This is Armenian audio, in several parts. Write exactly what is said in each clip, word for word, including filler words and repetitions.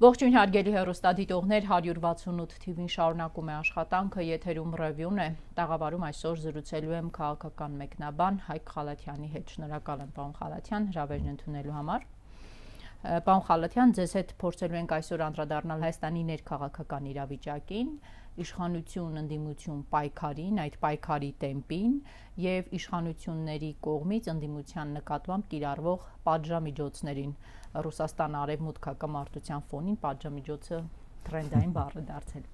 Ողջույն հարգելի հեռուստադիտողներ, հարյուր վաթսունութ թիվին շարունակում է աշխատանքը, եթերում ռևյուն է, տաղավարում այսօր զրուցելու եմ քաղաքական մեկնաբան Հայկ Խալաթյանի հետ։ Շնորհակալ եմ պարոն Խալաթյան հրավերն ընդունելու համար։ Պարոն Խալաթյան, ձեզ հետ փորձելու ենք այսօր անդրադառնալ Հայաստանի ներքաղաքական իրավիճակին, իշխանություն, ընդդիմություն պայքարին, այդ պայքարի տեմպին եւ իշխանությունների կողմից ընդդիմության նկատմամբ կիրառվող պատժամիջոցներին։ Ռուսաստան արևմուտք հակամարտության ֆոնին պատժամիջոցը թրենդային բառ է դարձել։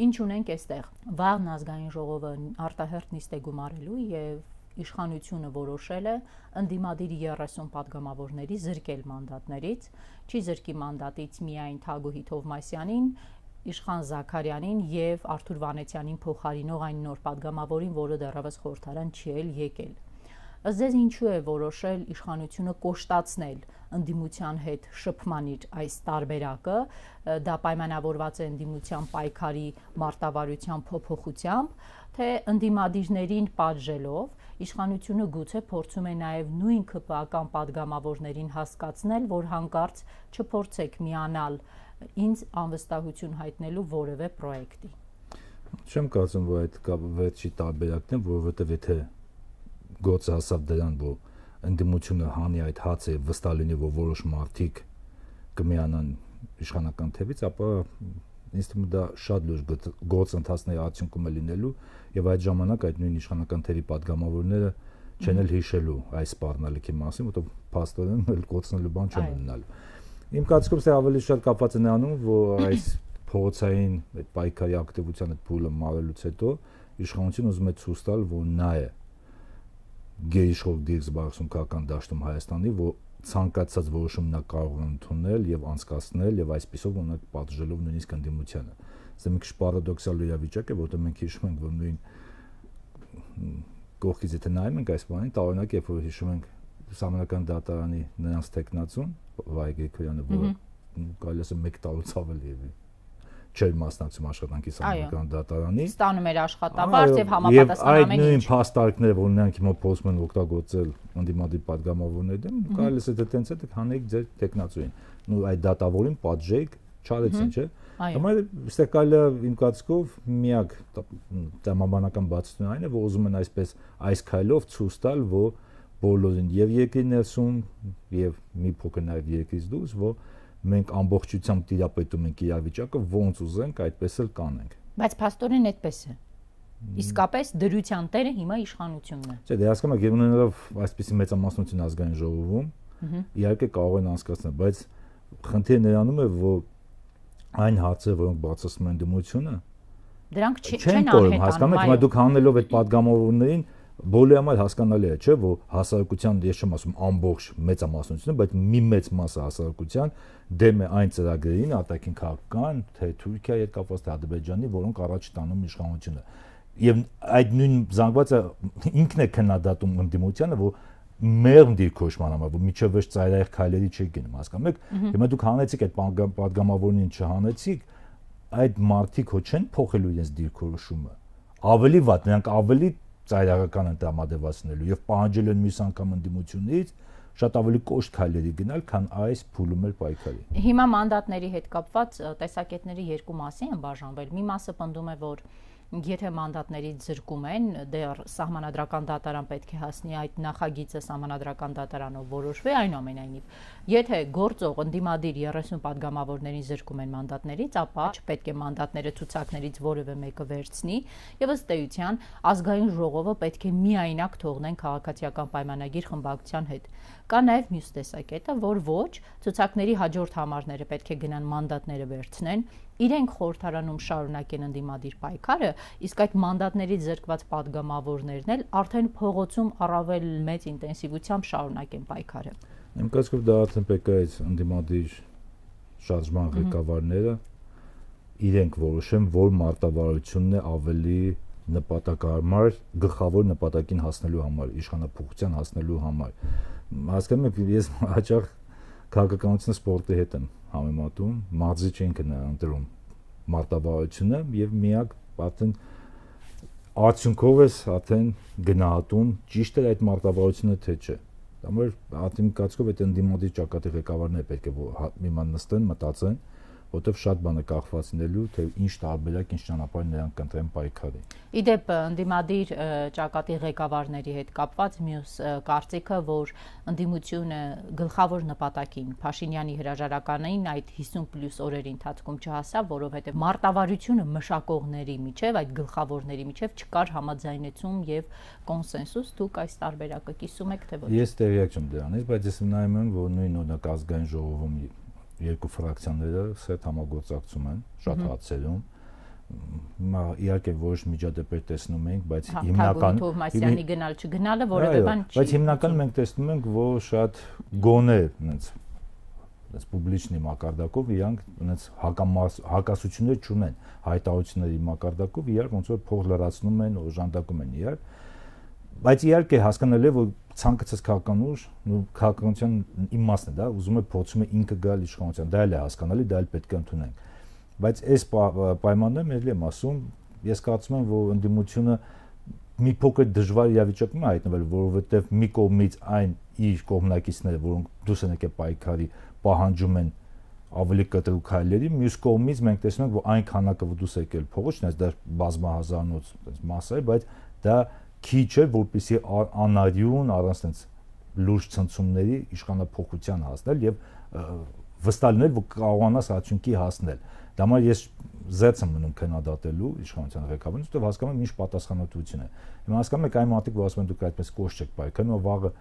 Ինչ ունենք այստեղ։ Վաղն ազգային ժողովը արտահերթ նիստ է գումարելու եւ իշխանությունը որոշել է ընդդիմադիր երեսուն պատգամավորների զրկել մանդատներից, չի զրկի մանդատից միայն Թագուհի Թովմասյանին, Իշխան Զաքարյանին եւ Արթուր Վանեցյանին փոխարինող այն նոր պատգամավորին, որը դեռևս խորհրդարան չի էլ եկել։ Ըստ ձեզ ինչու է որոշել իշխանությունը կոշտացնել ընդդիմության հետ շփման իր այս տարբերակը, դա պայմանավորված է ընդդիմության պայքարի մարտավարության փոփոխությամբ, թե ընդդիմադիրներին պատժելով իշխանությունը գուցե փորձում է նաև նույն ՔՊԱ-կան պատգամավորներին հասկացնել, որ հանկարծ չփորձեք միանալ ինձ անվստահություն հայտնելու որևէ պրոյեկտի։ Չեմ կարծում, որ այդ վերջի տարբերակն է, որովհետև եթե գործը հասավ դրան, որ ընդդիմությունը հանի այդ հացը վստահ լինի, որ որոշ մարդիկ կմիանան իշխանական թևից, ապա ինձ թվում է դա շատ լուրջ գործընթացների արդյունքում է լինելու եւ այդ ժամանակ այդ նույն իշխանական թևի պատգամավորները չեն էլ հիշելու այս սպառնալիքի մասին, որտեղ փաստորեն էլ կոչնելու բան չեն ունենալու։ Իմ կարծիքով սա ավելի շատ կապված է նրանում, որ այս փողոցային այդ պայքարի ակտիվության այդ փուլը մարելուց հետո իշխանությունը ուզում է ցույց տալ, որ նա է գերիշխող դիրքսբարսում քաղաքական դաշտում Հայաստանի, որ ցանկացած որոշում նա կարող է ընդունել եւ անցկացնել եւ այսպիսով ունակ պատժելով նույնիսկ ընդդիմությանը։ Սա մի քիչ պարադոքսալ իրավիճակ է, որտեղ մենք հիշում ենք, որ նույն կողքից եթե նայում ենք այս բանին, տարօրինակ է, որ հիշում ենք Սահմանադրական դատարանի նրանց տեխնացուն Վահե Գրիգորյանը, որը կարելի է մեկ տարուց ավելի է չէր մասնակցում աշխատանքի Սահմանադրական դատարանի, ստանում էր աշխատավարձ եւ համապատասխան ամեն ինչ։ Եվ այդ նույն փաստարկները, որ նրանք հիմա փորձում են օգտագործել ընդդիմադիր պատգամավորների դեմ, կարելի է դա տենց է հանեք ձեր տեխնացուին։ Ու այդ դատավորին պատժեք, չարեցին, չէ՞։ Հիմա այստեղ կարելի է իմ կարծիքով միակ տրամաբանական բացատրությունը այն է, որ ուզում են այսպես այս քայլով ցույց տալ, որ բոլորին եւ երկրի ներսում եւ մի փոքր նաեւ երկրից դուրս, որ մենք ամբողջությամբ տիրապետում ենք իրավիճակը, ոնց ուզենք, այդպես էլ կանենք։ Բայց փաստորեն այդպես է։ Իսկապես դրության տերը հիմա իշխանությունն է։ Չէ, դե հասկանում եք, ունենալով այսպիսի մեծամասնություն ազգային ժողովում, իհարկե կարող են անցկացնել, բայց խնդիրը նրանում է, որ այն հարցերը, որոնք բացասում են դիմությունը, դրանք չեն անհետանում։ Հասկանում եք, հիմա դուք հանելով այդ պատգամավորներին բոլորի համար հասկանալի է, չէ՞, որ հասարակության, ես չեմ ասում ամբողջ մեծամասնությունը, բայց մի մեծ մասը հասարակության դեմ է այն ծրագրերին, արտաքին քաղաքական, թե Թուրքիայի հետ կապված, թե Ադրբեջանի, որոնք առաջ տանում իշխանությունը։ Եվ այդ նույն զանգվածը ինքն է քննադատում ընդդիմությանը, որ մեղմ դիրքորոշման համար, որ միջև վերջ ծայրահեղ քայլերի չի գնում, հասկանում եք։ Հիմա դուք հանեցիք այդ պատգամավորներին չհանեցիք, այդ մարդիկ հո չեն փոխելու իրենց դիրքորոշումը։ Ավելի վատ, նրանք ավելի ծայրահեղական են տրամադրվածնելու եւ պահանջել են մյուս անգամ ընդդիմությունից շատ ավելի կոշտ քայլերի գնալ, քան այս փուլում էլ պայքարի։ Հիմա մանդատների հետ կապված տեսակետների երկու մասի են բաժանվել։ Մի մասը պնդում է, որ եթե մանդատներից զրկում են, դեռ Սահմանադրական դատարան պետք է հասնի այդ նախագիծը Սահմանադրական դատարանով որոշվի, այնուամենայնիվ, եթե գործող ընդդիմադիր երեսուն պատգամավորներին զրկում են մանդատներից, ապա չպետք է մանդատները ցուցակներից որևէ մեկը վերցնի, եւ ըստ էության ազգային ժողովը պետք է միայնակ թողնեն քաղաքացիական պայմանագիր խմբակցության հետ։ Կա նաև մյուս տեսակետը, որ ոչ, ցուցակների հաջորդ համարները պետք է գնան մանդատները վերցնեն, իրենք խորհրդարանում շարունակեն ընդդիմադիր պայքարը, իսկ այդ մանդատներից զրկված պատգամավորներն էլ արդեն փողոցում առավել մեծ ինտենսիվությամբ շարունակեն պայքարը։ Իմ կարծիքով դա արդեն պետք է այս ընդդիմադիր շարժման ղեկավարները իրենք որոշեն, որ մարտավարությունն է ավելի նպատակահարմար, գլխավոր նպատակին հասնելու համար, իշխանափոխության հասնելու համար։ Հասկանում եք, ես հաճախ քաղաքականությունը սպորտի հետ եմ համեմատում, մարզիչ ինքն է ընտրում մարտավարությունը եւ միակ արդեն արդյունքով ես արդեն գնահատում ճիշտ է այդ մարտավարությունը թե չէ։ Դա մեր արդեն կարծիքով այդ ընդդիմադիր ճակատի ղեկավարները պետք է մի ման նստեն, մտածեն, որտեղ շատ բան է կախված լինելու, թե ինչ տարբերակ, ինչ ճանապարհ նրանք կընտրեն պայքարի։ Իդեպ ընդդիմադիր ճակատի ղեկավարների հետ կապված մյուս կարծիքը, որ ընդդիմությունը գլխավոր նպատակին Փաշինյանի հրաժարականային այդ հիսուն պլյուս օրերի ընթացքում չհասավ, որովհետև մարտավարությունը մշակողների միջև, այդ գլխավորների միջև չկար համաձայնեցում եւ կոնսենսուս, դուք այս տարբերակը կիսում եք թե ոչ։ Ես տեղյակ չեմ դրանից, բայց ես նայում եմ, որ նույն օրինակ ազգային ժողովում երկու ֆրակցիաները սեթ համագործակցում են շատ հարցերում։ Հիմա իհարկե որոշ միջադեպեր տեսնում ենք, բայց հիմնական Թովմասյանի գնալ չգնալը որևէ բան չի։ Բայց հիմնական մենք տեսնում ենք, որ շատ գոնե այնց այնց պուբլիչնի մակարդակով իրանք այնց հակասություններ չունեն, հայտարարությունների մակարդակով իրար ոնց որ փող լրացնում են, օժանդակում են իրար։ Բայց իհարկե հասկանալի է, որ ցանկացած քաղաքական ուժ, ու քաղաքականության իմաստն է, դա ուզում է փոխում է ինքը գալ իշխանության, դա էլ է հասկանալի, դա էլ պետք է ընդունենք։ Բայց այս պայմաններում ելի եմ ասում, ես կարծում եմ, որ ընդդիմությունը մի փոքր դժվար իրավիճակում է հայտնվել, որովհետև մի կողմից այն իր կողմնակիցները, որոնք դուրս են եկել պայքարի, պահանջում են ավելի կտրուկ քայլերի, մյուս կողմից մենք տեսնում ենք, որ այն քանակը, որ դուրս եկել փողոց, չնայած դա բազմահազարանոց մաս է, բայց դա քիչ է, որպեսզի անարյուն առանց այնց լուրջ ցնցումների իշխանափոխության հասնել եւ վստահ լինել, որ կարողանաս արդյունքի հասնել։ Դա համար ես զերծ եմ մնում քննադատելու իշխանության ղեկավարին, որտեղ հասկանում եմ ինչ պատասխանատվություն է։ Հիմա հասկանում եք այն մարդիկ, որ ասում են դուք այդպես կոշտ չեք պայքարում, ու վաղը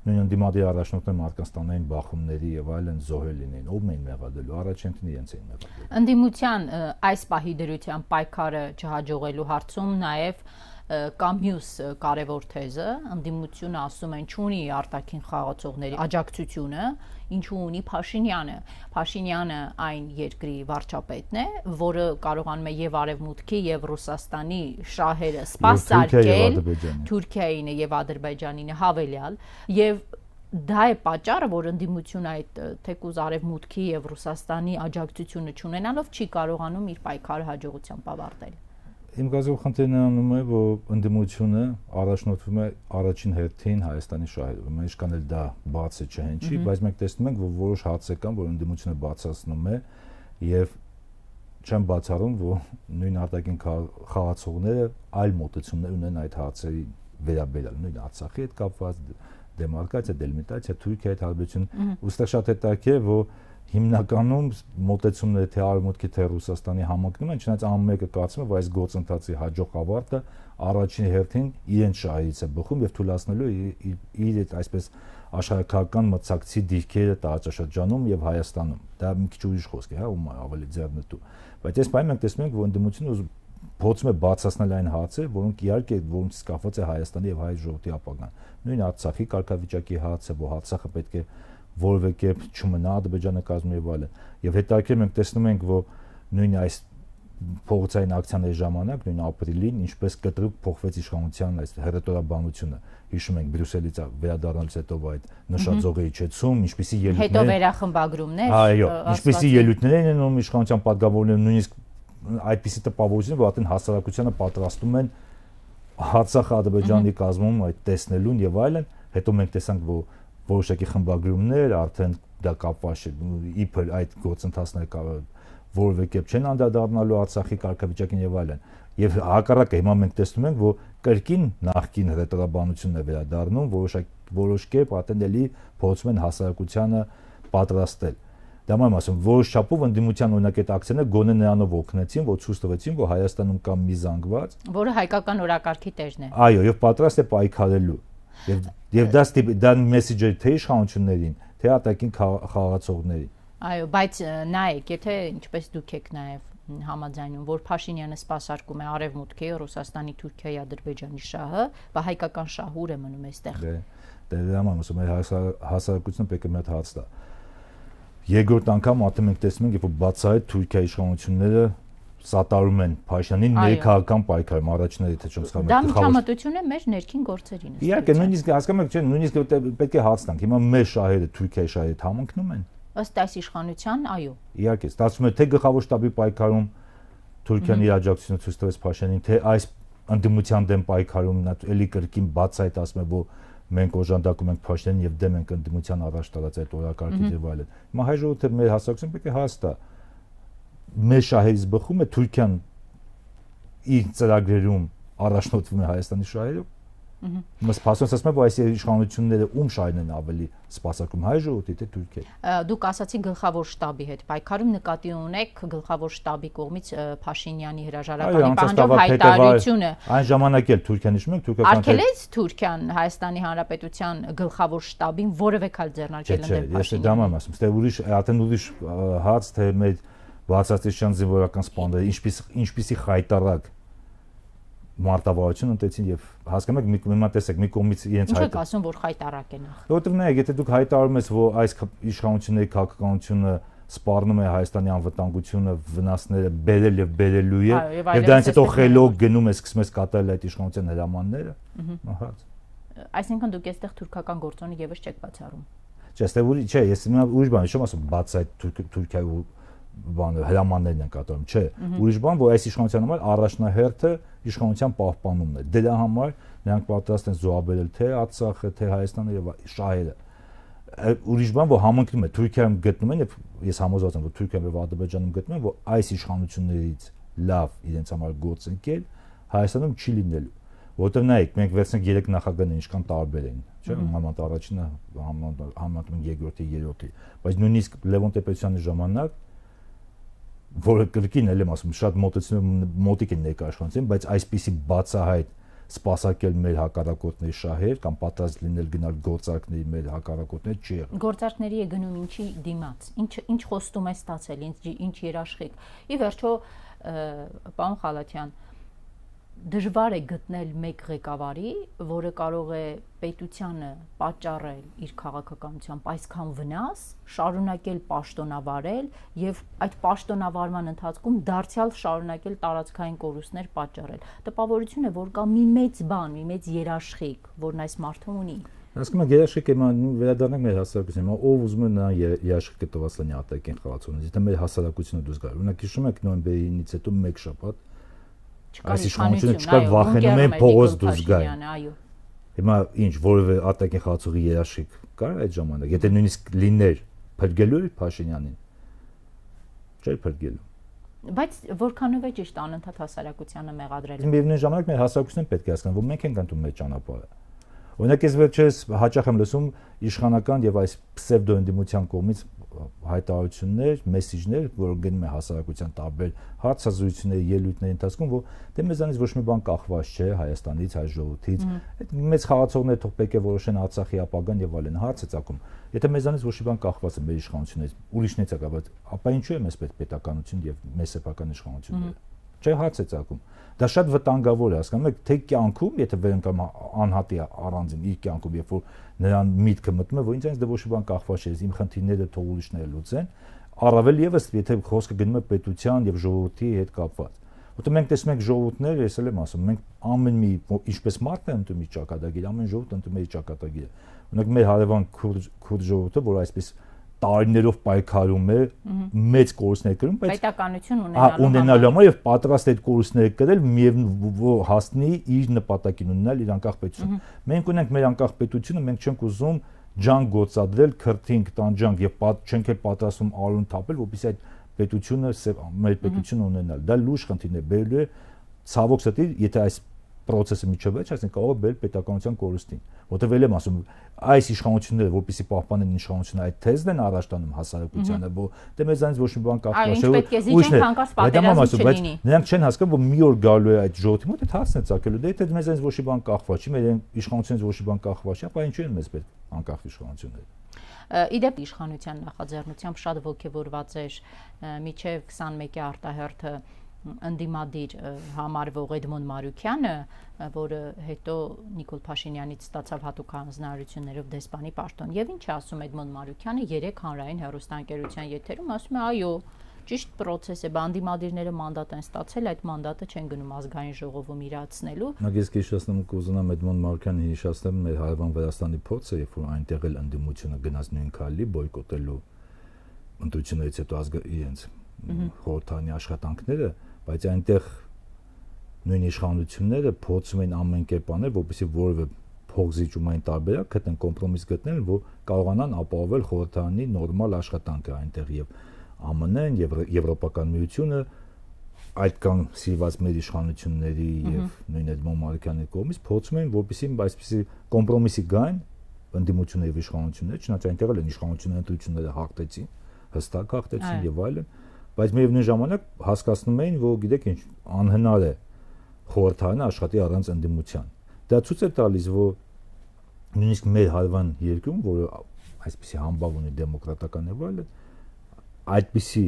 նույն ընդդիմադիր առաջնորդները մարդկանց տանային բախումների եւ այլն զոհել լինեն, ով էին մեղադրելու, առաջին իրենց էին մեղադրելու։ Ընդդիմության այս պահի դրության պայքարը չհաջողելու հարցում նաեւ կա մյուս կարևոր թեզը, ընդդիմությունը ասում են չունի արտաքին խաղացողների աջակցությունը, ինչու ունի Փաշինյանը։ Փաշինյանը այն երկրի վարչապետն է, որը կարողանում է եւ Արևմուտքի եւ Ռուսաստանի շահերը սպասարկել Թուրքիային եւ Ադրբեջանին հավելյալ, եւ դա է պատճառը, որ ընդդիմությունը այդ թեկուզ Արևմուտքի եւ Ռուսաստանի աջակցությունը չունենալով չի կարողանում իր պայքարը հաջողությամբ ավարտել։ Իմ գազով խնդիրն անում է, որ ընդդիմությունը առաջնորդվում է առաջին հերթին Հայաստանի շահերով։ Մենք ինչքան էլ դա բաց է չհնչի, բայց մենք տեսնում ենք, որ որոշ հարցեր կան, որ ընդդիմությունը բացացնում է եւ չեմ բացառում, որ նույն արտաքին խաղացողները այլ մոտեցումներ ունեն այդ հարցերի վերաբերյալ, նույն Արցախի հետ կապված, դեմարկացիա, դելիմիտացիա, Թուրքիայի հետ հարաբերություն, ուստեղ շատ հետաքրքիր է, որ հիմնականում մոտեցումները թե Արևմուտքի թե Ռուսաստանի համընկնում են, չնայած ամեն մեկը կարծում է, որ այս գործընթացի հաջող ավարտը առաջին հերթին իրենց շահերից է բխում եւ թույլատնելու իր այդ այսպես աշխարհակական մրցակցի դիրքերը տարածաշրջանում եւ Հայաստանում։ Դա մի քիչ ուրիշ խոսք է, հա, ում ավելի ձեռնտու։ Բայց այս բանը մենք տեսնում ենք, որ ընդդիմությունը փորձում է բացասնել այն հարցերը, որոնք իհարկե որոնցից կախված է Հայաստանի եւ հայ ժողովրդի ապագան։ Նույն Արցախի կարգավիճակի հարցը, որ Արցախը պետք է որևէ կերպ չմնա Ադրբեջանը կազմում եւ այլն։ Եվ հետաքրքիր մենք տեսնում ենք, որ նույն այս փողոցային ակցիաների ժամանակ, նույն ապրիլին, ինչպես կտրուկ փոխվեց իշխանության այս հերետորաբանությունը։ Հիշում ենք Բրյուսելից վերադառնալուց հետո այդ նշաձողերի իջեցում, ինչպիսի ելույթներ։ Հետո վերախմբագրումներ։ Այո, ինչպիսի ելույթներ են անում իշխանության պատգամավորները, նույնիսկ այդպիսի տպավորություն, որ արդեն հասարակությանը պատրաստում են Արցախը Ադրբեջանի կազմում այդ տեսնելուն եւ այլն։ Հետո մենք տեսանք, որ որոշակի խմբագրումներ արդեն դա կապված է իբր այդ գործընթացները որևէ կերպ չեն անդրադառնալու Արցախի կարգավիճակին եւ այլն։ Եվ հակառակը հիմա մենք տեսնում ենք, որ կրկին նախկին հրետորաբանությունն է վերադառնում, որոշակի որոշ կերպ ատենելի փոխում են հասարակությանը պատրաստել։ Դա mám ասում, որոշ չափով ընդդիմության օրինակ այդ ակցիաները գոնե նրանով օգնեցին, որ ցույց տվեցին, որ Հայաստանում կա մի զանգված, որը հայկական օրակարգի տերն է։ Այո, եւ պատրաստ է պայքարելու։ Եվ եւ դա դա մեսեջը թե իշխանություններին, թե արտաքին խաղացողներին։ Այո, բայց նայեք, եթե ինչպես դուք եք նաեւ համաձայնում, որ Փաշինյանը սպասարկում է Արևմուտքի, Ռուսաստանի, Թուրքիայի, Ադրբեջանի շահը, բա հայկական շահը ուր է մնում այստեղ։ Դե, դա mám ասում, հասարակությունը պետք է մի հատ հաց տա։ Երկրորդ անգամ արդեն մենք տեսնում ենք, որ բացահայտ Թուրքիայի իշխանությունները սատարում են Փաշինյանին ներքաղաքական պայքարում, առաջինը թե չեմ սխալվում։ Դա միջամտություն է մեր ներքին գործերին։ Իհարկե, նույնիսկ հասկանում եք, չէ, նույնիսկ պետք է հաց տանք։ Հիմա մեր շահերը Թուրքիայի շահերի հետ համընկնում են։ Ըստ այս իշխանության, այո։ Իհարկե, ստացվում է թե գլխավոր շտաբի պայքարում Թուրքիան իր աջակցությունը ցույց տվեց Փաշինյանին, թե այս ընդդիմության դեմ պայքարում նա էլի կրկին բացահայտ ասում է, որ մենք օժանդակում ենք Փաշինյանին եւ դեմ ենք ընդդիմության առաջ տարած այդ օրակարգից եւ այլն։ Հիմա հայ ժողովուրդը մեր հասարակությունը պետք է հաստա մեր շահերից բխում է, Թուրքիան իր ծրագրերում առաջնորդվում է Հայաստանի շահերով։ Մս փաստորեն ասում եմ, որ այս իշխանությունները ում շահերն են ավելի սպասարկում, հայ ժողովրդի թե Թուրքիայի։ Դուք ասացիք գլխավոր շտաբի հետ պայքարում նկատի ունեք գլխավոր շտաբի կողմից Փաշինյանի հրաժարականի պահանջով հայտարարությունը։ Այն ժամանակ էլ Թուրքիան իշխում է, թուրքական արգելեց Թուրքիան Հայաստանի Հանրապետության գլխավոր շտաբին որևէ քայլ ձեռնարկել ընդդեմ Փաշինյանի։ Ես դա եմ ասում, ստե ուրիշ, արդեն ուրիշ հաց թե մեր բացատրության զինվորական սպանդերը, ինչպես ինչպիսի խայտարակ մարտավարություն ընտեցին եւ հասկանում եք մի մեմա տեսեք մի կողմից իրենց հայտ։ Ինչ եք ասում, որ խայտարակ է նախ։ Որտեւ նայեք, եթե դուք հայտարարում ես, որ այս իշխանությունների քաղաքականությունը սպառնում է Հայաստանի անվտանգությունը, վնասները բերել եւ բերելու է, եւ դրանից հետո խելոք գնում է, սկսում է կատարել այդ իշխանության հրամանները, ահա։ Այսինքն դուք այստեղ թուրքական գործոնը եւս չեք բացառում։ Չէ, այստեղ ուրիշ, չէ, ես ուրիշ բան եմ ասում, բաց այդ Թուրքիայի բանը հրամաններն են կատարում, չէ, ուրիշ բան, որ այս իշխանության համար առաջնահերթը իշխանության պահպանումն է։ Դրա համար նրանք պատրաստ են զոհաբերել թե Արցախը, թե Հայաստանը եւ շահերը։ Ուրիշ բան, որ համընկնում է Թուրքիայում գտնում են եւ ես համոզված եմ, որ Թուրքիայում եւ Ադրբեջանում գտնում են, որ այս իշխանություններից լավ իրենց համար գործընկել Հայաստանում չի լինելու։ Որտեղ նայեք, մենք վերցնենք երեք նախագահները ինչքան տարբեր են, չէ՞, համեմատ առաջինը, համեմատ երկրորդի, երրորդի, բայց նույնիսկ Լևոն Տեր-Պետրոսյանի ժամանակ որը կրկին էլ եմ ասում, շատ մոտեցնում մոտիկ են ներկայացնում, բայց այսպիսի բացահայտ սպասարկել մեր հակառակորդների շահեր կամ պատրաստ լինել գնալ գործարքների մեր հակառակորդներ չի եղել։ Գործարքների է գնում ինչի դիմաց, ինչ ինչ խոստում է ստացել, ինչ ինչ երաշխիք։ Ի վերջո, պարոն Խալաթյան, դժվար է գտնել մեկ ղեկավարի, որը կարող է պետությանը պատճառել իր քաղաքականությամբ այսքան վնաս, շարունակել պաշտոնավարել եւ այդ պաշտոնավարման ընթացքում դարձյալ շարունակել տարածքային կորուստներ պատճառել։ Տպավորություն է, որ կա մի մեծ բան, մի մեծ երաշխիք, որն այս մարդը ունի։ Հասկանում եք, երաշխիքը վերադառնանք մեր հասարակությանը, ով ուզում է նա երաշխիքը տված լինի արտաքին խաղացողներից, եթե մեր հասարակությունը դուրս գա։ Օրինակ հիշում եք նոյեմբերից հետո մեկ շաբաթ այս իշխանությունը չկար, վախենում են փողոց դուրս գային։ Հիմա ինչ, որևէ արտաքին խաղացողի երաշխիք կար այդ ժամանակ, եթե նույնիսկ լիներ, փրկելու էր Փաշինյանին։ Չէր փրկելու։ Բայց որքանով է ճիշտ անընդհատ հասարակությանը մեղադրել։ Միևնույն ժամանակ մեր հասարակությունն պետք է հասկանա, որ մենք ենք ընտրում մեր ճանապարհը։ Օրինակ ես վերջերս հաճախ եմ լսում իշխանական եւ այս պսևդո ընդդիմության կողմից հայտարարություններ, մեսիջներ, որ գնում է հասարակության տարբեր հարցազրույցների, ելույթների ընթացքում, որ դե մեզանից ոչ մի բան կախված չէ Հայաստանից, հայ ժողովրդից, այդ մեծ խաղացողները թող պետք է որոշեն Արցախի ապագան եւ այլն, հարց է ցակում։ Եթե մեզանից ոչ մի բան կախված է մեր իշխանություններից, ուրիշներից է կախված, ապա ինչու է մեզ պետք պետականություն եւ մեր սեփական իշխանությունները։ Չէ, հարց է ցակում։ Դա շատ վտանգավոր է, հասկանում եք, թե կյանքում, եթե վերընկամ անհատի առանձին իր կյանքում, երբ որ նրան միտքը մտնում է, որ ինձ այնց դե ոչ մի բան կախված չէ, իմ խնդիրները թող ուրիշները լուծեն, առավել եւս եթե խոսքը գնում է պետության եւ ժողովրդի հետ կապված։ Որտեղ մենք տեսնում ենք ժողովուրդներ, ես էլ եմ ասում, մենք ամեն մի ինչպես մարդն է ընտրում իր ճակատագիրը, ամեն ժողովուրդ ընտրում է իր ճակատագիրը։ Օրինակ մեր հարևան քուրդ ժողովուրդը, որ այսպես տարիներով պայքարում է, մեծ կորուստներ կրում, բայց պետականություն ունենալու համար եւ պատրաստ այդ կորուստները կրել միևնույն հասնի իր նպատակին ունենալ իր անկախ պետություն։ Մենք ունենք մեր անկախ պետությունը, մենք չենք ուզում ջանք գործադրել, քրթինք տանջանք եւ չենք էլ պատրաստում արուն թափել, որպեսզի այդ պետությունը մեր պետությունը ունենալ։ Դա լուրջ խնդիրն է, բերելու է ցավոք սրտի, եթե այս process-ը միջով է, այսինքն կարող է բերել պետականության կորուստին։ Որտեւ ել եմ ասում, այս իշխանությունները, որպեսզի պահպանեն իշխանությունը, այդ թեզն են առաջ տանում հասարակությանը, որ դե մեզանից ոչ մի բան կախված չէ, բայց նրանք չեն հասկանում, որ մի օր գալու է այդ ժողովրդի մոտ, այդ հարցն է ցակելու, դե եթե մեզանից ոչ մի բան կախված չի, մեր իշխանությունից ոչ մի բան կախված չի, ապա ինչու են մեզ պետք անկախ իշխանությունները։ Իդեպ իշխանության նախաձեռնությամբ շատ ողջևորված էր միջև քսանմեկի արտահերթը ընդդիմադիր համարվող Էդմոն Մարուկյանը, որը հետո Նիկոլ Փաշինյանից ստացավ հատուկ հանձնարարություններով դեսպանի պաշտոն։ Եվ ինչ է ասում Էդմոն Մարուկյանը երեք հանրային հեռուստաընկերության եթերում, ասում է, այո, ճիշտ process է, բանդիմադիրները մանդատ են ստացել, այդ մանդատը չեն գնում ազգային ժողովում իրացնելու։ Նույնիսկ ես հիշեցնում կուզենամ Էդմոն Մարուկյանը հիշեցնեմ մեր հարևան Վրաստանի փորձը, երբ որ այնտեղ էլ ընդդիմությունը գնաց նույն քայլի բոյկոտելու ընտրություններից հետո ազգ իրենց խորհրդանի աշխատանքները, բայց այնտեղ նույն իշխանությունները փորձում են ամեն կերպ անել, որպեսզի որևէ փոխզիջումային տարբերակ գտնեն, կոմպրոմիս գտնեն, որ կարողանան ապահովել խորհրդանի նորմալ աշխատանքը այնտեղ եւ Է Մն-ն եւ Եվրոպական միությունը այդ կան սիրված մեր իշխանությունների եւ նույն Էդմոն Մարուկյանի կողմից փորձում են որպեսզի այսպեսի կոմպրոմիսի գային ընդդիմությունը եւ իշխանությունները, չնայած այնտեղ էլ են իշխանությունները ընտրությունները հաղթեցին, հստակ հաղթեցին եւ այլն, բայց միևնույն ժամանակ հասկացնում էին, որ գիտեք ինչ անհնար է խորհրդարանը աշխատի առանց ընդդիմության։ Դա ցույց է տալիս, որ նույնիսկ մեր հարևան երկրում, որը այսպեսի համբավ ունի դեմոկրատական եւ այլն, այդպիսի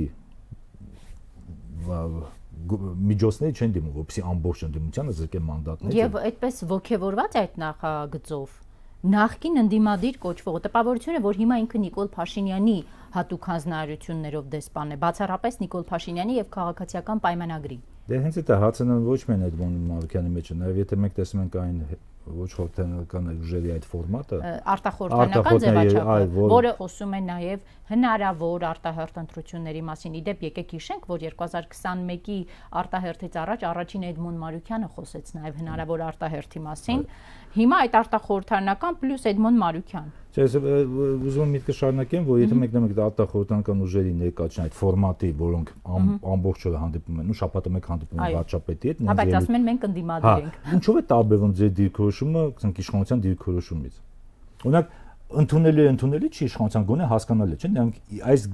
միջոցների չեն դիմում, որպեսզի ամբողջ ընդդիմությանը զրկեն մանդատները։ Եվ այդպես ոգևորված այդ նախագծով նախկին ընդդիմադիր կոչվողը տպավորությունը, որ հիմա ինքը Նիկոլ Փաշինյանի հատուկ հանձնարարություններով դեսպան է, բացառապես Նիկոլ Փաշինյանի եւ քաղաքացիական պայմանագրի։ Դե հենց այդ հացնան ոչ միայն Էդմոն Մարուկյանի մեջ, նաեւ եթե մենք տեսնում ենք այն ոչ խորհրդանական ուժերի այդ ֆորմատը, արտախորհրդանական ձևաչափը, որը խոսում է նաեւ հնարավոր արտահերթ ընտրությունների մասին։ Իդեպ եկեք հիշենք, որ երկու հազար քսաներկուի արտահերթից առաջ առաջին Էդմոն Մարուկյանը խոսեց նաեւ հնարավոր արտահերթի մասին։ Հիմա այդ արտախորհրդանական պլյուս Էդմոն Մարուկյան։ Ես ուզում եմ միտքը շարունակեմ, որ եթե մենք նայենք արտախորհրդանական ուժերի ներկայացն այդ ֆորմատի, որոնք ամբողջ օրը հանդիպում են, ու շաբաթը մեկ հանդիպում են վարչապետի հետ, բայց ասում են մենք ընդդիմադիր ենք։ Ինչով է տարբերվում ձեր դիրքորոշումը իշխանության դիրքորոշումից։ Օրինակ ընդունելի է ընդունելի չի իշխանության գոնե հասկանալի չէ՞ նրանք այս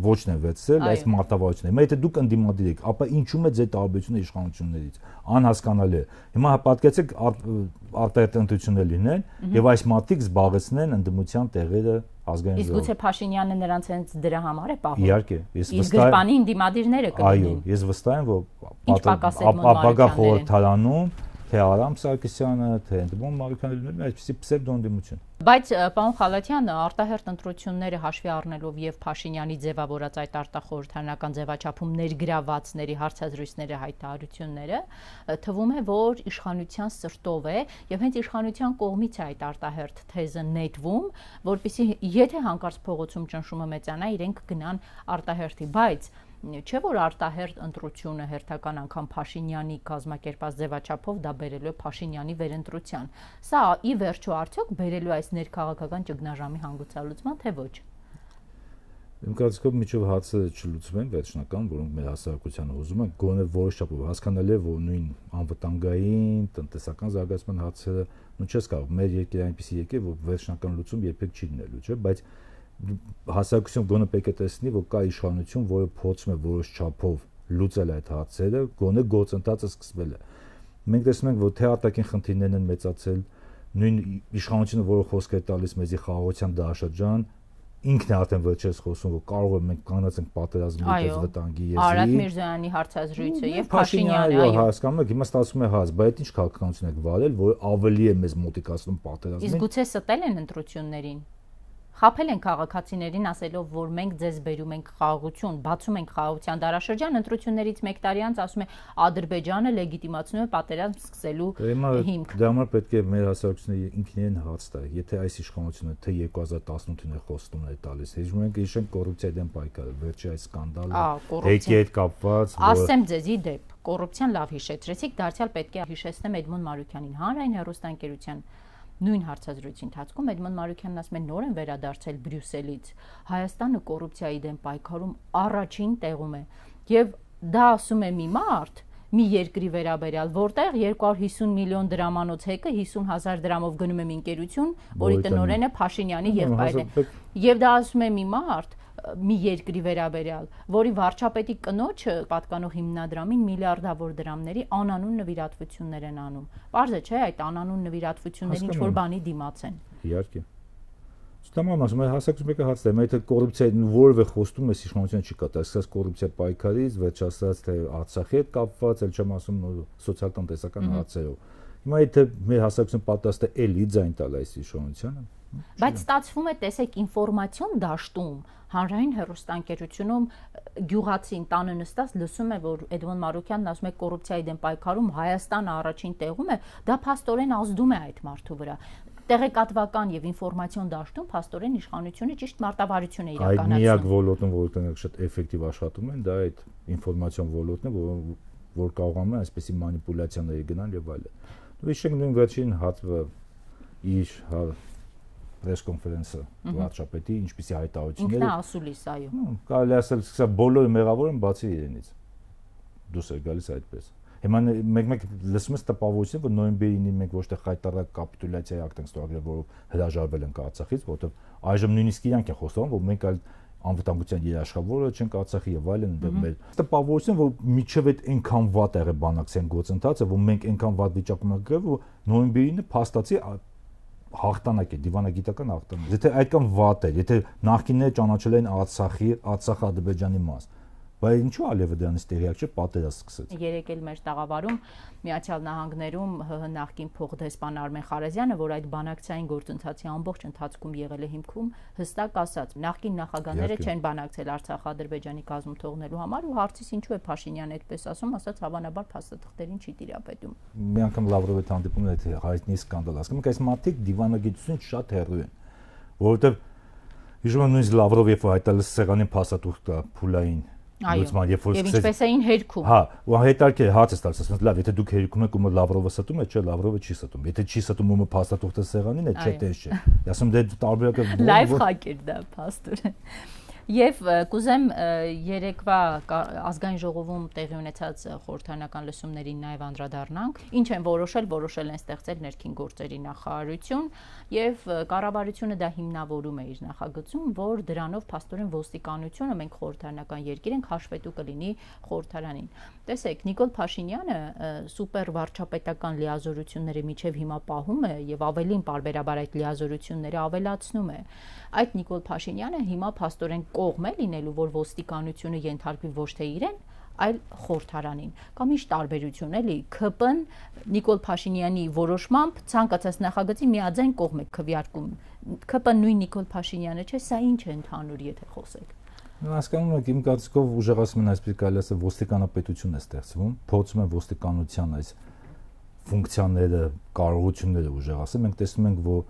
ոչն են վերցրել այս մարտավարությունները հիմա եթե դուք ընդդիմադիր եք ապա ինչու՞մ է ձեր տարբերությունը իշխանություններից անհասկանալի է հիմա պատկերացեք արտահերթ ընտրություններ լինեն եւ այս մարտիկ զբաղեցնեն ընդդիմության տեղերը ազգային իսկ գուցե Փաշինյանը նրանց հենց դրա համար է պահում իհարկե ես վստահ եմ գրպանի ընդդիմադիրները կլինեն այո ես վստահ եմ որ ապագա խորհրդարանում թե Արամ Սարգսյանը, թե Էդմոն Մարուկյանը լինում է այսպիսի պսևդոընդդիմություն։ Բայց պարոն Խալաթյան, արտահերթ ընտրությունները հաշվի առնելով եւ Փաշինյանի ձևավորած այդ արտախորհրդանական ձևաչափում ներգրավվածների հարցազրույցները հայտարարությունները, թվում է, որ իշխանության սրտով է եւ հենց իշխանության կողմից է այդ արտահերթ թեզը նետվում, որպեսզի եթե հանկարծ փողոցում ճնշումը մեծանա, իրենք գնան արտահերթի, բայց չէ՞ որ արտահերթ ընտրությունը հերթական անգամ Փաշինյանի կազմակերպած ձևաչափով դա բերելու է Փաշինյանի վերընտրության։ Սա ի վերջո արդյոք բերելու այս ներքաղաքական ճգնաժամի հանգուցալուծման, թե ոչ։ Իմ կարծիքով միջով հացը չլուծվեն վերջնական, որոնք մեր հասարակությանը ուզում են, գոնե որոշ չափով հասկանալի է, որ նույն անվտանգային, տնտեսական զարգացման հարցերը, նույն չես կարող, մեր երկիրը այնպեսի երկիր, որ վերջնական լուծում երբեք չի լինելու, չէ՞, բայց հասարակությունը գոնե պետք է տեսնի, որ կա իշխանություն, որը փորձում է որոշ չափով լուծել այդ հարցերը, գոնե գործընթացը սկսվել է։ Մենք տեսնում ենք, որ թե արտաքին խնդիրներն են մեծացել, նույն իշխանությունը, որը խոսք է տալիս մեզի խաղաղության դարաշրջան, ինքն է արդեն վերջերս խոսում, որ կարող է մենք կանացենք պատերազմի պես վտանգի եզրի։ Արադ Միրզոյանի հարցազրույցը եւ Փաշինյանը, այո, հասկանում եք, հիմա ստացվում է հաց, բայց ինչ քաղաքականություն եք վարել, որ ավելի է մեզ մոտիկացնում պատերազմին։ Իսկ գուցե ստել են ընտրություններին։ Խափել են քաղաքացիներին ասելով, որ մենք ձեզ բերում ենք խաղաղություն, բացում ենք խաղաղության դարաշրջան, ընտրություններից մեկ տարի անց ասում է Ադրբեջանը լեգիտիմացնում է պատերազմ սկսելու հիմք։ Դա համար պետք է մեր հասարակությունը ինքնին հաց տա, եթե այս իշխանությունը թե երկու հազար տասնութին է խոստումներ տալիս, հիշում ենք հիշենք կոռուպցիայի դեմ պայքարը, վերջի այս սկանդալը, հեքի հետ կապված։ Ասեմ ձեզ ի դեպ, կոռուպցիան լավ հիշեցրեցիք, դարձյալ պետք է հիշեցնեմ Էդմոն Մարուկյանին, հանրային հեռուստաընկերության նույն հարցազրույցի ընթացքում Էդմոն Մարուկյանն ասում է նոր են վերադարձել Բրյուսելից Հայաստանը կոռուպցիայի դեմ պայքարում առաջին տեղում է եւ դա ասում է մի մարդ մի երկրի վերաբերյալ որտեղ երկու հարյուր հիսուն միլիոն դրամանոց հեկը հիսուն հազար դրամով գնում է մի ընկերություն որի տնօրենը Փաշինյանի եղբայրն է եւ դա ասում է մի մարդ մի երկրի վերաբերյալ, որի վարչապետի կնոջը պատկանող հիմնադրամին միլիարդավոր դրամների անանուն նվիրատվություններ են անում։ Պարզ է, չէ՞, այդ անանուն նվիրատվությունները ինչ որ բանի դիմաց են։ Իհարկե։ Ստամամ ասում եմ, հասարակություն մեկը հարց է, եթե կոռուպցիայի որևէ խոստում է իշխանության չի կատարել, սկսած կոռուպցիա պայքարից, վերջացած թե Արցախի հետ կապված, ել չեմ ասում սոցիալ-տնտեսական հարցերով։ Հիմա եթե մեր հասարակությունը պատրաստ է էլի ձայն տալ այս իշխանությանը, բայց ստացվում է, տեսեք, ինֆորմացիոն դաշտում հանրային հեռուստաընկերությունում գյուղացին տանը նստած լսում է, որ Էդմոն Մարուկյանն ասում է կոռուպցիայի դեմ պայքարում Հայաստանը առաջին տեղում է, դա փաստորեն ազդում է այդ մարդու վրա։ Տեղեկատվական եւ ինֆորմացիոն դաշտում փաստորեն իշխանությունը ճիշտ մարտավարություն է իրականացնում։ Այդ միակ ոլորտում, որտեղ շատ էֆեկտիվ աշխատում են, դա այդ ինֆորմացիոն ոլորտն է, որ որ կարողանում է այսպեսի մանիպուլյացիաների գնալ եւ այլն։ Ու հիշենք նույն վերջին հատվը իր press conference-ը վարչապետի, ինչպիսի հայտարարությունները։ Ինքնաասուլիս, այո։ Կարելի ասել, սա բոլորը մեղավոր են բացի իրենից։ Դուրս է գալիս այդպես։ Հիմա մեկ-մեկ լսում ես տպավորություն, որ նոյեմբերի ինը մենք ոչ թե խայտարակ կապիտուլյացիայի ակտ ենք ստորագրել, որով հրաժարվել ենք Արցախից, որովհետև այժմ նույնիսկ իրանք են խոսում, որ մենք այլ անվտանգության երաշխավորը չենք Արցախի եւ այլն ընդդեմ մեր տպավորություն, որ միջև այդ այնքան վատ եղե բանակցային գործընթացը, որ մենք այնքան վատ վիճակում ենք գրել, որ նոյեմբերի ինը փաստացի հաղթանակ է, դիվանագիտական հաղթանակ։ Եթե այդքան վատ է, եթե նախկինները ճանաչել են Արցախի, Արցախ Ադրբեջանի մաս, բայց ինչու Ալիևը դրանից տեղյակ չէ, պատերազմ սկսեց։ Երեք էլ մեր տաղավարում Միացյալ Նահանգներում ՀՀ նախկին փոխդեսպան Արմեն Խարազյանը, որ այդ բանակցային գործընթացի ամբողջ ընթացքում եղել է հիմքում, հստակ ասաց, նախկին նախագահները չեն բանակցել Արցախ-Ադրբեջանի կազմում թողնելու համար ու հարցից ինչու է Փաշինյանը այդպես ասում, ասաց հավանաբար փաստաթղթերին չի տիրապետում։ Մի անգամ Լավրովի հետ հանդիպում այդ հայտնի սկանդալ ասում, այս մարդիկ դիվանագիտությունից շատ հեռու են, որովհետև հիշում եմ նույնիսկ Լավրովը երբ հայտարարել սեղանին փաստաթուղթ կա փուլային լուծման, երբ որ սկսեց։ Եվ ինչպես էին հերքում։ Հա, ու հետարքի հարց է տալիս, ասում լավ, եթե դուք հերքում եք ու Լավրովը ստում է, չէ, Լավրովը չի ստում։ Եթե չի ստում ու փաստաթուղթը սեղանին է, չէ, դες չէ։ Ասում դե տարբերակը լայվ խակ էր դա փաստորեն։ Եվ կուզեմ երեկվա ազգային ժողովում տեղի ունեցած խորհրդարանական լսումներին նաև անդրադառնանք, ինչ են որոշել, որոշել են ստեղծել ներքին գործերի նախարարություն եւ կառավարությունը դա հիմնավորում է իր նախագծում, որ դրանով փաստորեն ոստիկանությունը մենք խորհրդարանական երկիր ենք, հաշվետու կլինի խորհրդարանին։ Տեսեք, Նիկոլ Փաշինյանը սուպեր վարչապետական լիազորությունների միջև հիմա պահում է եւ ավելին պարբերաբար այդ լիազորությունները ավելացնում է։ Այդ Նիկոլ Փաշինյանը հիմա փաստորեն կողմ է լինելու, որ ոստիկանությունը ենթարկվի ոչ թե իրեն, այլ խորհրդարանին։ Կամ ինչ տարբերություն էլի, ՔՊ-ն Նիկոլ Փաշինյանի որոշմամբ ցանկացած նախագծի միաձայն կողմ է քվեարկում։ ՔՊ-ն նույն Նիկոլ Փաշինյանը չէ, սա ինչ է ընդհանուր, եթե խոսեք։ Հասկանում եք, իմ կարծիքով ուժեղացում են այսպես կարելի ասել ոստիկանապետություն է ստեղծվում, փորձում են ոստիկանության այս ֆունկցիաները, կարողությունները ուժեղացնել։ Մենք տեսնում ենք, որ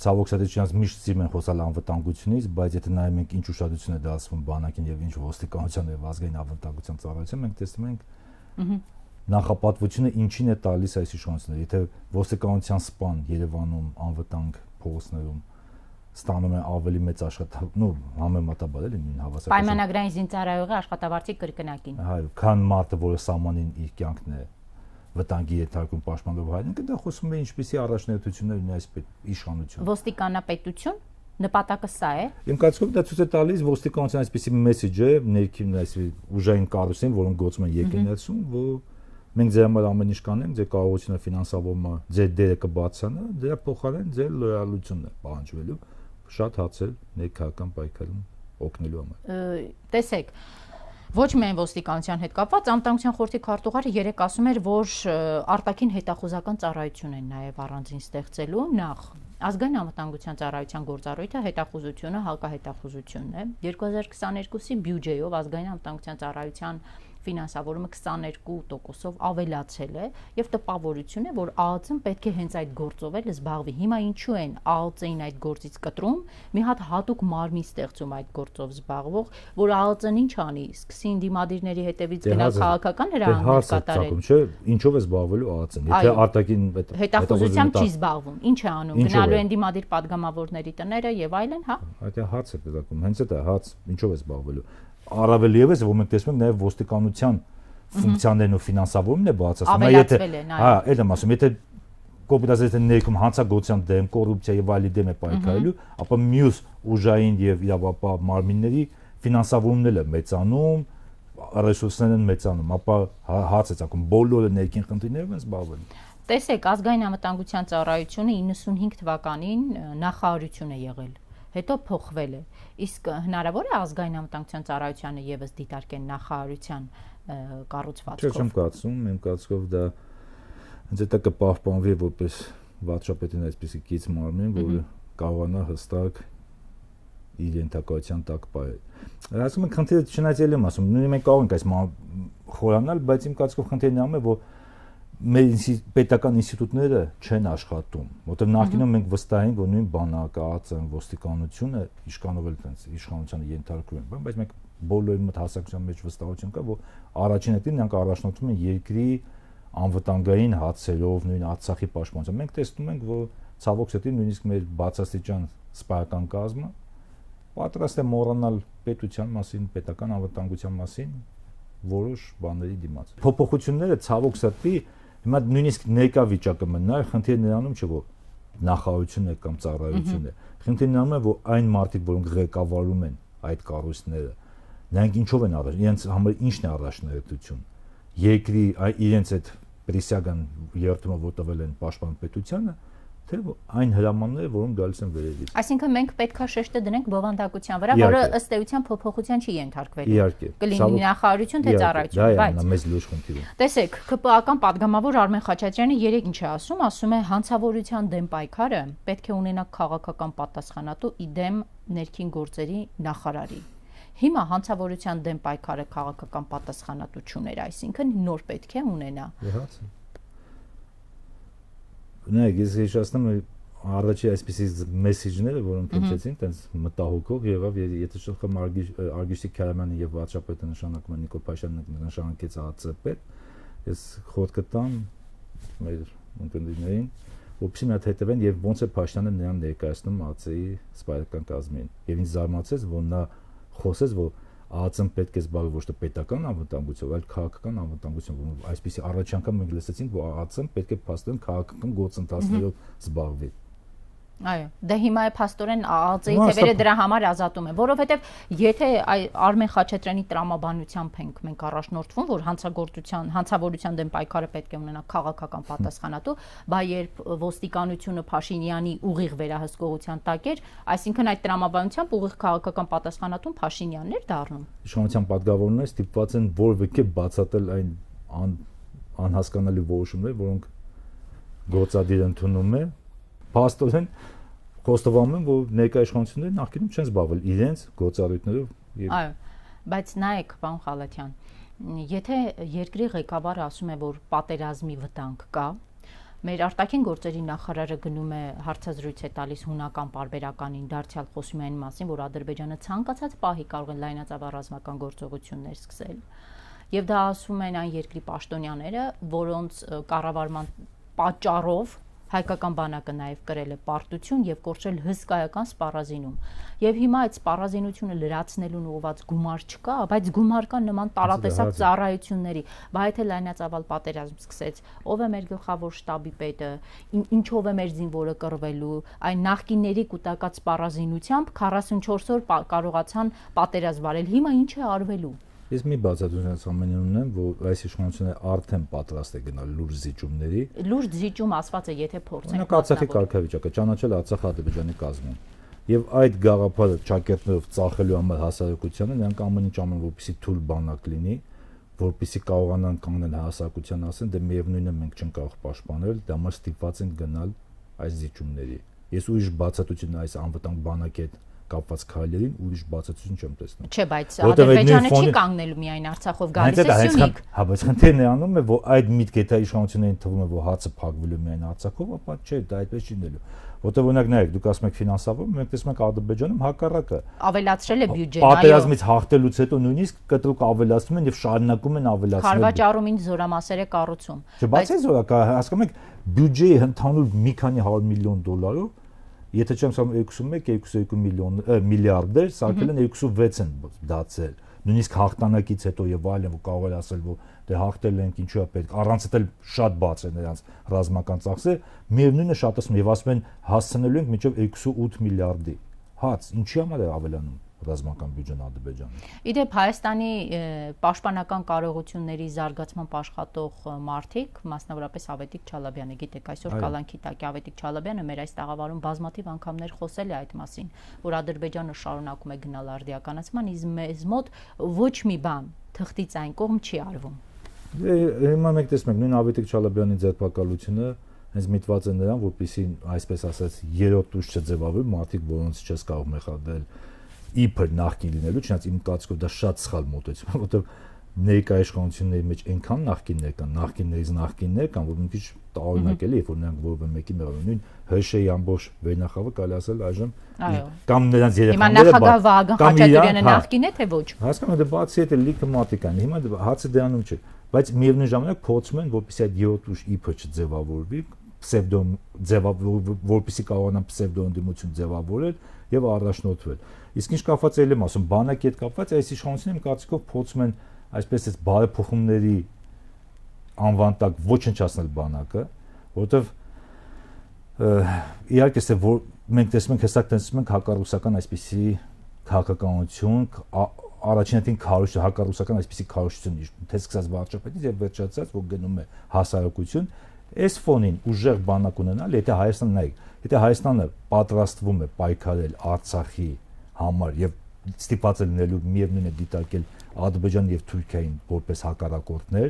ցավոք սրտի չնայած միշտ սիրում են խոսալ անվտանգությունից, բայց եթե նայում ենք ինչ ուշադրություն է դարձվում բանակին եւ ինչ ոստիկանության եւ ազգային անվտանգության ծառայության, մենք տեսնում ենք նախապատվությունը ինչին է տալիս այս իշխանությունները։ Եթե ոստիկանության սպան Երևանում անվտանգ փողոցներում ստանում է ավելի մեծ աշխատանք, նո համեմատաբար էլի նույն հավասար։ Պայմանագրային զինծառայողի աշխատավարձի կրկնակին։ Հայ, քան մարդը, որը սահմանին իր կյանքն է վտանգի ենթարկում պաշտպանելով հայրենիքը, դա խոսում է ինչպիսի առաջնահերթություններ ունի այս իշխանությունը։ Ոստիկանապետություն նպատակը սա է։ Իմ կարծիքով դա ցույց է տալիս ոստիկանության այսպիսի մեսեջը ներքին այս ուժային կառույցին, որոնք գործում են երկրներում, որ մենք ձեր համար ամեն ինչ կանենք, ձեր կարողությունը ֆինանսավորումը, ձեր դերը կբացանա, դրա փոխարեն ձեր լոյալությունն է պահանջվելու շատ հացել ներքաղաքական պայքարում օգնելու համար։ Տեսեք, ոչ միայն ոստիկանության հետ կապված, անվտանգության խորհրդի քարտուղարը երեք ասում էր, որ արտաքին հետախուզական ծառայություն են նաև առանձին ստեղծելու, նախ ազգային անվտանգության ծառայության գործառույթը հետախուզությունը, հակահետախուզությունն է։ երկու հազար քսաներկուսի բյուջեով ազգային անվտանգության ծառայության ֆինանսավորումը քսաներկու տոկոսով ավելացել է եւ տպավորություն է, որ ԱԱԾ-ն պետք է հենց այդ գործով էլ զբաղվի։ Հիմա ինչու են ԱԱԾ-ին այդ գործից կտրում, մի հատ հատուկ մարմին ստեղծում այդ գործով զբաղվող, որ ԱԱԾ-ն ինչ անի, սկսի դիմադիրների հետևից գնալ քաղաքական հրահանգներ կատարել։ Չէ, ինչով է զբաղվելու ԱԱԾ-ն։ Եթե արտաքին հետախուզությամբ չի զբաղվում, ինչ է անում, գնալու են դիմադիր падգամավորների տները եւ այլն, հա։ Այդ է հարց է դրակում, հենց այդ է հարց, ինչով է զբաղվելու։ Առավել եւս, որ մենք տեսնում ենք նաև ոստիկանության ֆունկցիաներն ու ֆինանսավորումն է բացասում։ Եթե, հա, այդ եմ ասում, եթե կոպիտացիա ներքում հանցագործության դեմ, կոռուպցիա եւ այլի դեմ է պայքարելու, ապա մյուս ուժային եւ իրավապահ մարմինների ֆինանսավորումն է մեծանում, ռեսուրսներն են մեծանում, ապա հարց է ցակում, բոլորը ներքին խնդիրներով են զբաղվելու։ Տեսեք, ազգային անվտանգության ծառայությունը իննսունհինգ թվականին նախարարություն է եղել, հետո փոխվել է։ Իսկ հնարավոր է ազգային անվտանգության ծառայությանը եւս դիտարկեն նախարարության կառուցվածքով։ Չէ, չեմ կարծում, իմ կարծիքով դա հենց դա կպահպանվի որպես վարչապետին այսպեսի կից մարմին, որը կարողանա հստակ իր ենթակայության տակ պահել։ Ասում եմ, խնդիրը չնայած եմ ասում, նույնիսկ մենք կարող ենք այս խորանալ, բայց իմ կարծիքով խնդիրն անում է, որ մեր պետական ինստիտուտները չեն աշխատում, որտեղ նախկինում մենք վստահ ենք, որ նույն բանակը, ԱԱԾ-ն, ոստիկանությունը իշխանով էլ տենց իշխանությանը ենթարկվում են, բայց մենք բոլորի մոտ հասարակության մեջ վստահություն կա, որ առաջին հերթին նրանք առաջնորդվում են երկրի անվտանգային հարցերով, նույն Արցախի պաշտպանությամբ։ Մենք տեսնում ենք, որ ցավոք սրտի նույնիսկ մեր բացաստիճան սպայական կազմը պատրաստ է մոռանալ պետության մասին, պետական անվտանգության մասին որոշ բաների դիմաց։ Փոփոխությունները ցավոք սրտի հիմա նույնիսկ ներկա վիճակը մնա, խնդիրը նրանում չէ, որ նախարարությունն է կամ ծառայությունն է։ Խնդիրը նրանում է, որ այն մարդիկ, որոնք ղեկավարում են այդ կառույցները, նրանք ինչով են առաջ, իրենց համար ինչն է առաջնահերթություն։ Երկրի իրենց այդ պրիսյագան երթումը որ տվել են պաշտպան պետությանը, թե այն հրամանները, որոնք գալիս են վերևից։ Այսինքն մենք պետքա շեշտը դնենք բովանդակության վրա, որը ըստ էության փոփոխության չի ենթարկվելու։ Իհարկե։ Կլինի նախարարություն թե ծառայություն, բայց դա է մեծ լուրջ խնդիրը։ Տեսեք, ՔՊԱ-ական падգամավոր Արմեն Խաչատրյանը երեք ինչ է ասում, ասում է հանցավորության դեմ պայքարը պետք է ունենա քաղաքական պատասխանատու իդեմ ներքին գործերի նախարարի։ Հիմա հանցավորության դեմ պայքարը քաղաքական պատասխանատու չուներ, այսինքն նոր պետք է ունենա։ Նայեք, ես հիշեցնում եմ առաջի այսպիսի մեսեջները, որոնք հնչեցին, տենց մտահոգող եղավ, եթե շփում Արգիշտի Քարամյանը եւ վարչապետը նշանակում են Նիկոլ Փաշինյանը նշանակեց ԱԾՊ, ես խորտ կտամ մեր ընկերներին, որպեսզի մի հատ հետևեն եւ ոնց է Փաշինյանը նրան ներկայացնում ԱԾ-ի սպայական կազմին։ Եվ ինձ զարմացեց, որ նա խոսեց, որ ԱԾ-ն պետք է զբաղվի ոչ թե պետական անվտանգությամբ, այլ քաղաքական անվտանգությամբ։ Այսպեսի առաջ անգամ մենք լսեցինք, որ ԱԾ-ն պետք է փաստորեն քաղաքական գործընթացներով զբաղվի։ Այո, դե հիմա է փաստորեն ԱԾ-ի թևերը դրա համար ազատում են, որովհետև եթե Արմեն Խաչատրյանի տրամաբանությամբ ենք մենք առաջնորդվում, որ հանցագործության, հանցավորության դեմ պայքարը պետք է ունենա քաղաքական պատասխանատու, բայց երբ ոստիկանությունը Փաշինյանի ուղիղ վերահսկողության տակ էր, այսինքն այդ տրամաբանությամբ ուղիղ քաղաքական պատասխանատուն Փաշինյանն էր դառնում։ Իշխանության պատգամավորները ստիպված են որևէ բացատրել այն անհասկանալի որոշումները, որոնք գործադիր ընդունում է, փաստորեն խոստովանում են, որ ներկայ իշխանությունները նախկինում չեն զբաղվել իրենց գործառույթներով։ Այո, բայց նայեք, պարոն Խալաթյան, եթե երկրի ղեկավարը ասում է, որ պատերազմի վտանգ կա, մեր արտաքին գործերի նախարարը գնում է հարցազրույց է տալիս հունական պարբերականին, դարձյալ խոսում է այն մասին, որ Ադրբեջանը ցանկացած պահի կարող է լայնածավալ ռազմական գործողություններ սկսել։ Եվ դա ասում են այն երկրի պաշտոնյաները, որոնց կառավարման պատճառով հայկական բանակը նաև կրել է պարտություն եւ կորցրել հսկայական սպառազինում։ Եվ հիմա այդ սպառազինությունը լրացնելուն ուղղված գումար չկա, բայց գումար կա նման տարատեսակ ծառայությունների։ Բայց եթե լայնածավալ պատերազմ սկսեց, ով է մեր գլխավոր շտաբի պետը, ինչով է մեր զինվորը կռվելու, այն նախկինների կուտակած սպառազինությամբ քառասունչորս օր կարողացան պատերազմ վարել։ Հիմա ինչ է արվելու։ Ես մի բացատրություն ամենին ունեմ, որ այս իշխանությունը արդեն պատրաստ է գնալ լուրջ զիջումների։ Լուրջ զիջում ասված է, եթե փորձենք Արցախի կարգավիճակը ճանաչել Արցախ-Ադրբեջանի կազմում։ Եվ այդ գաղափարը ճակերտներով ծախելու համար հասարակությանը նրանք ամեն ինչ անում, որպեսզի թույլ բանակ լինի, որպեսզի կարողանան կանգնել հասարակության ասեն, դե միևնույնն է մենք չենք կարող պաշտպանել, դա համար ստիպված են գնալ այս զիջումների։ Ես ուրիշ բացատրություն այս անվտանգ բանակի հետ կապված քայլերին ուրիշ բացատրություն չեմ տեսնում։ Չէ, բայց Ադրբեջանը չի կանգնելու միայն Արցախով գալիս է Սյունիք։ Հա, բայց խնդիրն է անում է, որ այդ միտքը եթե իշխանություններին թվում է, որ հացը փակվելու միայն Արցախով, ապա չէ, դա այդպես չի լինելու։ Որտեղ օրինակ նայեք, դուք ասում եք ֆինանսավոր, մենք տեսնում ենք Ադրբեջանում հակառակը։ Ավելացրել է բյուջեն, այո։ Պատերազմից հաղթելուց հետո նույնիսկ կտրուկ ավելացնում են եւ շարունակում են ավելացնել։ Խարվաճառումին զորամասեր է կառուցում։ Չբացի զորակա, հասկանում եք, բյուջեի ընդհանուր մի քանի հարյուր միլիոն դոլարով Եթե չեմ ասում երկուսունմեկ երկուսունյոթ միլիոն միլիարդեր, սարքել են երկուսունվեց են դարձել։ Նույնիսկ հաղթանակից հետո եւ այլն, որ կարող է ասել, որ դե հաղթել ենք, ինչու է պետք, առանց էլ շատ բաց է նրանց ռազմական ծախսը, միևնույնն է շատ ասում եւ ասում են հասցնելու ենք մինչեւ երկուսունութ միլիարդի։ Հաց, ինչի համար է ավելանում ռազմական բյուջեն Ադրբեջանը։ Իդեպ Հայաստանի պաշտպանական կարողությունների զարգացման աշխատող մարդիկ, մասնավորապես Ավետիք Չալաբյանը, գիտեք, այսօր կալանքի տակ Ավետիք Չալաբյանը մեր այս տաղավարում բազմաթիվ անգամներ խոսել է այդ մասին, որ Ադրբեջանը շարունակում է գնալ արդիականացման, իսկ մեզ մոտ ոչ մի բան թղթից այն կողմ չի արվում։ Հիմա մենք տեսնում ենք նույն Ավետիք Չալաբյանի ձերբակալությունը հենց միտված է նրան, որպեսզի այսպես ասած երրորդ ուժ չձևավորվի, մարդիկ, որոնց չես կարող մեղադրել իբր նախկին լինելու, չնայած իմ կարծիքով դա շատ սխալ մոտեցում է, որովհետև ներկա իշխանությունների մեջ այնքան նախկիններ կան, նախկիններից նախկիններ կան, որ մի քիչ տարօրինակ էլի, երբ որ նրանք որևէ մեկի մեղադրում, նույն ՀՇ-ի ամբողջ վերնախավը կարելի ասել այժմ կամ նրանց երեխաները, հիմա նախագահ Վահագն Խաչատրյանը նախկին է թե ոչ։ Հասկանում եք, բացի այդ լիքը մատիկ են, հիմա հացը դրանում չէ, բայց միևնույն ժամանակ փորձում են, որպեսզի այդ երրորդ ուժ իբր չձևավորվի, պսևդո որպեսզի կարողանան պսևդո ընդդիմություն ձևավորել եւ առաջնորդվել։ Իսկ ինչ կապված է եմ ասում, բանակի հետ կապված այս իշխանությունները իմ կարծիքով փորձում են այսպես այս բարեփոխումների անվան տակ ոչնչացնել բանակը, որովհետեւ իհարկե թե որ մենք տեսնում ենք հստակ տեսնում ենք հակառուսական այսպիսի քաղաքականություն, առաջինատին քարոշ հակառուսական այսպիսի քարոշություն, թե սկսած վարչապետից եւ վերջացած որ գնում է հասարակություն, այս ֆոնին ուժեղ բանակ ունենալ, եթե Հայաստանն նայեք, եթե Հայաստանը պատրաստվում է պայքարել Արցախի համար եւ ստիպված է լինելու միևնույն է դիտարկել Ադրբեջան եւ Թուրքիային որպես հակառակորդներ,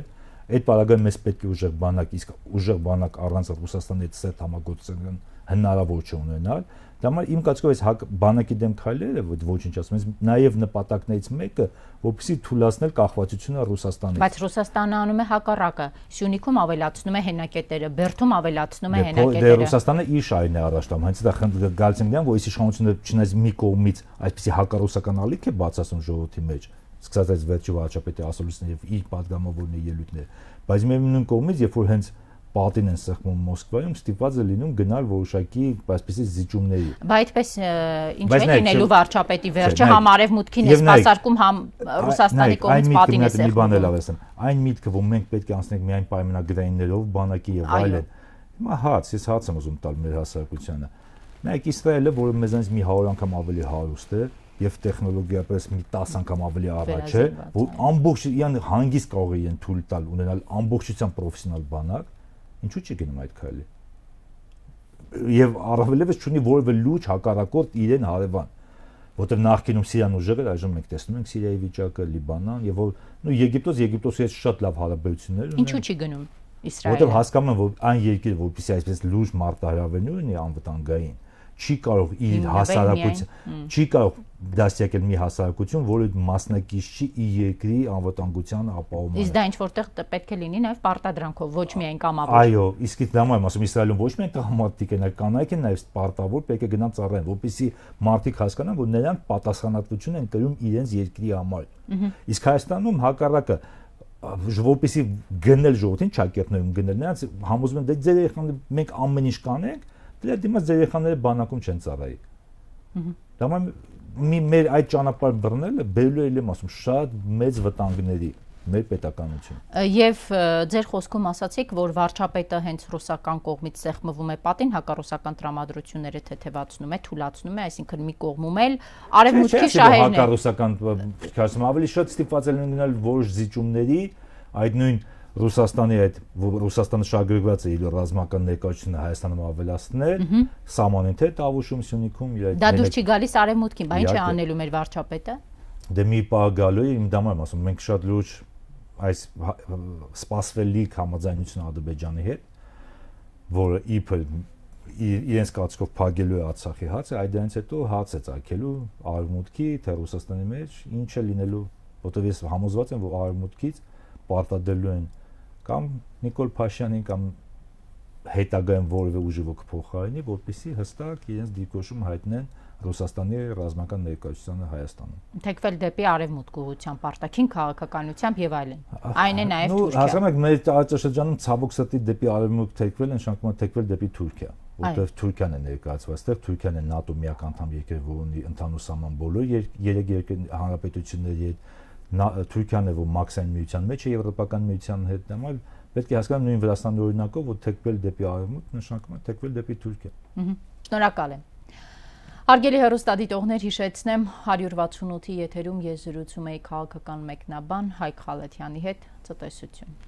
այդ պարագայում մեզ պետք է ուժեղ բանակ, իսկ ուժեղ բանակ առանց Ռուսաստանի հետ սերտ համագործակցության հնարավոր չէ ունենալ։ Դա համար իմ կարծիքով այս բանակի դեմ քայլերը ոչնչացում են նաեւ նպատակներից մեկը, որպեսզի թույլատնել կախվածությունը Ռուսաստանից։ Բայց Ռուսաստանը անում է հակառակը, Սյունիքում ավելացնում է հենակետերը, Բերդում ավելացնում է հենակետերը։ Դե Ռուսաստանը իր շահերն է առաջ տանում, հենց դա գալիս են դեմ, որ այս իշխանությունը չնայած մի կողմից այսպեսի հակառուսական ալիք է բացասում ժողովրդի մեջ, սկսած այս վերջի վարչապետի ասուլիսն եւ իր падգամավորների ելույթները, բայց միևնույն կողմից, երբ որ հենց պատին են սեղմում Մոսկվայում, ստիպված է լինում գնալ որոշակի այսպեսի զիջումների։ Բայց այդպես ինչ է լինելու վարչապետի վերջը համ արևմուտքին է սպասարկում, համ Ռուսաստանի կողմից պատին է սեղմում։ Այն միտքը, որ մենք պետք է անցնենք միայն պայմանագրայիններով, բանակի եւ այլն։ Հիմա հաց, ես հաց եմ ուզում տալ մեր հասարակությանը։ Նայեք Իսրայելը, որը մեզանից մի հարյուր անգամ ավելի հարուստ է եւ տեխնոլոգիապես մի տասը անգամ ավելի առաջ է, որ ամբողջ իրան հանգիստ կարող է իրեն թույլ տալ ունենալ ամբողջությամբ պրոֆեսիոնալ բանակ, ինչու՞ չի գնում այդ քայլի։ Եվ առավելևս չունի որևէ լուրջ հակառակորդ իրեն հարևան, որտեղ նախկինում Սիրիան ուժեղ էր, այժմ մենք տեսնում ենք Սիրիայի վիճակը, Լիբանան եւ որ նո Եգիպտոս, Եգիպտոսի հետ շատ լավ հարաբերություններ ունեն։ Ինչու՞ չի գնում Իսրայելը։ Որտեղ հասկանում են, որ այն երկիրը, որպեսզի այսպես լուրջ մարտահրավերներ ունի անվտանգային, չի կարող իր հասարակություն, չի կարող դաստիարակել մի հասարակություն, որը մասնակից չի իր երկրի անվտանգության ապահովմանը։ Իսկ դա ինչ որտեղ պետք է լինի նաև պարտադրանքով, ոչ միայն կամավոր։ Այո, իսկ դա եմ ասում, Իսրայելում ոչ միայն տղամարդիկ են, այլ կանայք են նաև պարտավոր պետք է գնան ծառայեն, որպեսզի մարդիկ հասկանան, որ նրանք պատասխանատվություն են կրում իրենց երկրի համար։ Իսկ Հայաստանում հակառակը որպեսզի գնել ժողովրդին ճակերտներում գնել, նրանց համոզում են դե ձեր երեխաները մենք ամեն ինչ կանենք, դրա դիմաց ձեր երեխաները բանակում չեն ծառայի։ Դա մի մեր այդ ճանապարհ բռնելը բերելու է եմ ասում շատ մեծ վտանգների մեր պետականություն։ Եվ ձեր խոսքում ասացիք, որ վարչապետը հենց ռուսական կողմից սեղմվում է պատին, հակառուսական տրամադրությունները թեթևացնում է, թուլացնում է, այսինքն մի կողմում էլ արևմուտքի շահերն են։ Հակառուսական, ասում ավելի շատ ստիպված են լինել որոշ զիջումների, այդ նույն Ռուսաստանի այդ Ռուսաստանը շահագրգռված է իր ռազմական ներկայությունը Հայաստանում ավելացնել, սահմանին թե Տավուշում, Սյունիքում իր այդ դա դուր չի գալիս արևմուտքին, բա ինչ է անելու մեր վարչապետը։ Դե մի պահ գալու է, իմ դամարում ասում, մենք շատ լուրջ այս սպասվելիք համաձայնություն Ադրբեջանի հետ, որը իբր իրենց կարծիքով փակելու է Արցախի հացը, այդ դրանից հետո հաց է ծագելու արևմուտքի թե Ռուսաստանի մեջ, ինչ է լինելու, որտեղ ես համոզված եմ, որ արևմուտքից պարտադրելու են կամ Նիկոլ Փաշյանին կամ հետագայում որևէ ուժի ոգ փոխարինի, որպեսզի հստակ իրենց դիրքորոշում հայտնեն Ռուսաստանի ռազմական ներկայությանը Հայաստանում։ Թեքվել դեպի արևմուտք ուղղությամբ, արտաքին քաղաքականությամբ եւ այլն։ Այն է նաեւ Թուրքիա։ Հասկանում եք, մեր տարածաշրջանում ցավոք սրտի դեպի արևմուտք թեքվել են, շանկում թեքվել դեպի Թուրքիա, որտեղ Թուրքիան է ներկայացված, այդտեղ Թուրքիան է ՆԱՏՕ միակ անդամ երկիր, որ ունի ընդհանուր սահման բոլոր երեք երկրի հանրապետությունների հետ, Թուրքիան է, որ մաքսային միության մեջ է Եվրոպական միության հետ, նույն պետք է հասկանալ նույն Վրաստանի օրինակով, որ թեքվել դեպի արևմուտք նշանակում է թեքվել դեպի Թուրքիա։ Շնորհակալ եմ։ Հարգելի հեռուստադիտողներ, հիշեցնեմ հարյուր վաթսունութի եթերում ես զրուցում էի քաղաքական մեկնաբան Հայկ Խալաթյանի հետ, ցտեսություն։